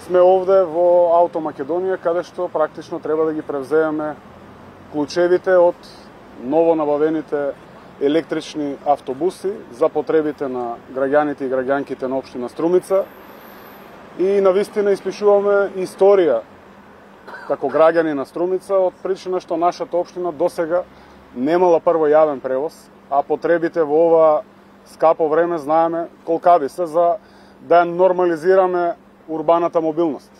сме овде во Ауто Македонија, каде што практично треба да ги превземеме клучевите од ново набавените електрични автобуси за потребите на граѓаните и граѓанките на општина Струмица и навистина испишуваме историја како граѓани на Струмица од причина што нашата општина досега немала прво јавен превоз, а потребите во ова скапо време знаеме колкави се за да нормализираме урбаната мобилност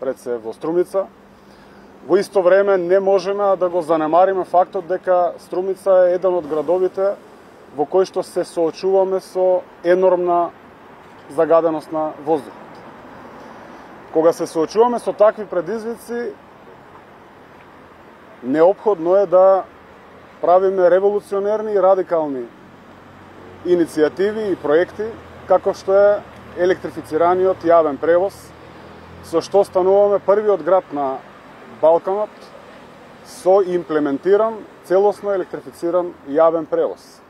пред се во Струмица. Во исто време не можеме да го занемариме фактот дека Струмица е еден од градовите во кој што се соочуваме со енормна загаденост на воздухот. Кога се соочуваме со такви предизвици, неопходно е да правиме револуционерни и радикални иницијативи и проекти, како што е електрифицираниот јавен превоз, со што стануваме првиот град на Балканот со имплементиран, целосно електрифициран јавен превоз.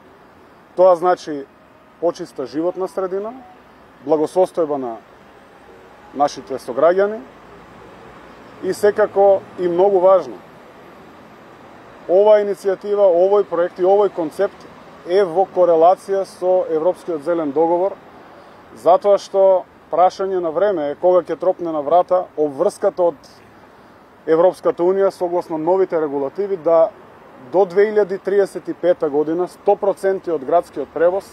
Тоа значи почиста животна средина, благосостојба на нашите сограѓани и секако и многу важно, ова иницијатива, овој проект и овој концепт е во корелација со Европскиот зелен договор, затоа што прашање на време е кога ќе тропне на врата обврската од Европската Унија согласно новите регулативи да до 2035 година 100% од градскиот превоз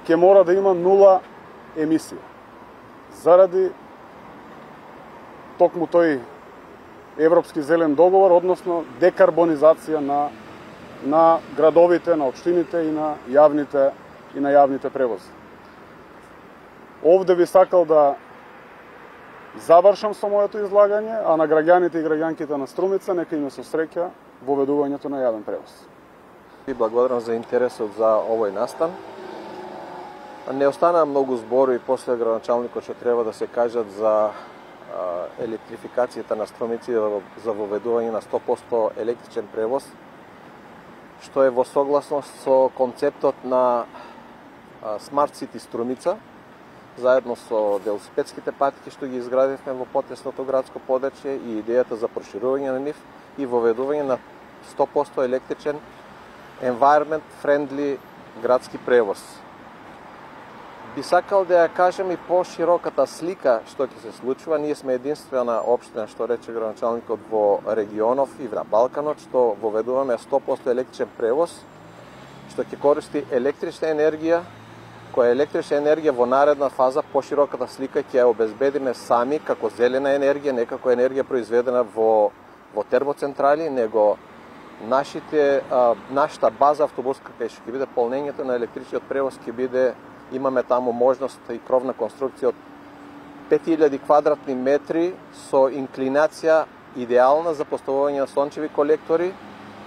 ќе мора да има нула емисија. Заради токму тој Европски зелен договор, односно декарбонизација на градовите, на општините и на јавните превози. Овде би сакал да завршам со моето излагање, а на граѓаните и граѓанките на Струмица нека им се среќа во ведувањето на јавен превоз. Ви благодарам за интересот за овој настан. Не останаа многу зборови после градоначалникот што треба да се кажат за електрификацијата на Струмица за воведување на 100% електричен превоз, што е во согласност со концептот на Smart City Струмица, заедно со велосипедските патки што ги изградивме во потесното градско подрачје и идејата за проширување на нив и воведување на 100% електричен environment friendly градски превоз. Би сакал да ја кажем и пошироката слика што ќе се случува. Ние сме единствена општина, што рече градоначалникот, во регионов и на Балканот, што воведуваме 100% електричен превоз, што ќе користи електрична енергија, која електрична енергија во наредна фаза, пошироката слика ќе ја обезбедиме сами како зелена енергија, не како енергија произведена во термоцентрали, него нашата база автобуска кај што ќе биде полнењето на електричниот превоз ќе биде, имаме таму можност и кровна конструкција од 5000 квадратни метри со инклинација идеална за поставување на сончеви колектори,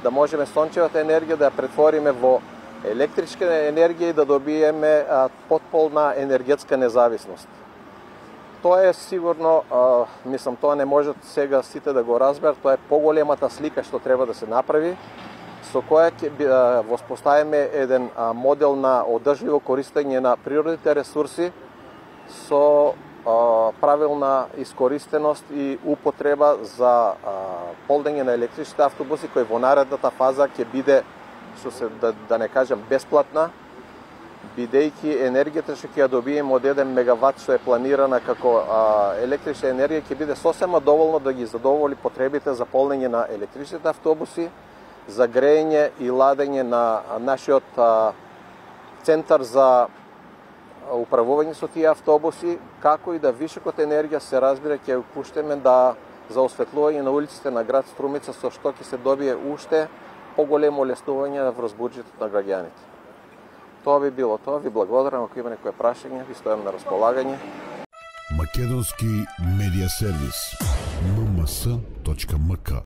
да можеме сончевата енергија да ја претвориме во електричка енергија и да добиеме потполна енергетска независност. Тоа е сигурно, мислам, тоа не можат сега сите да го разберат, тоа е поголемата слика што треба да се направи, со која ќе воспоставиме еден модел на одржливо користење на природните ресурси со правилна искористеност и употреба за полнење на електричните автобуси, кои во наредната фаза ќе биде, да не кажам бесплатна, бидејќи енергијата што ќе ја добиеме од 1 мегават што е планирана како електрична енергија ќе биде сосема доволно да ги задоволи потребите за полнење на електричните автобуси, за грејење и ладење на нашиот центар за управување со тие автобуси, како и да вишокот енергија се разбира ќе ја пуштеме за осветлување на улиците на град Струмица, со што ќе се добие уште поголемо олеснување во возбуџувањето на граѓаните. Тоа би било тоа. Ви благодарам. Ако има некои прашања, ви стојам на располагање. Македонски медиа сервис. mms.mk